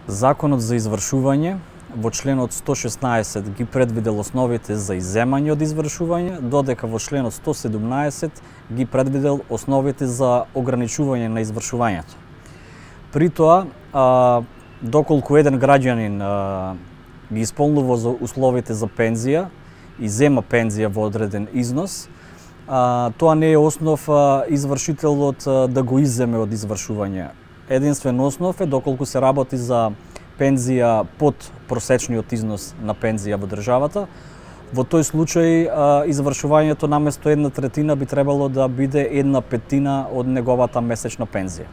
Законот за извршување во членот 116 ги предвидел основите за изземање од извршување, додека во членот 117 ги предвидел основите за ограничување на извршувањето. При тоа, доколку еден граѓанин ги исполнува за условите за пензија и зема пензија во одреден износ, тоа не е основ извршителот да го изземе од извршување. Единствен основ е доколку се работи за пензија под просечниот износ на пензија во државата. Во тој случај извршувањето наместо 1/3 би требало да биде 1/5 од неговата месечна пензија.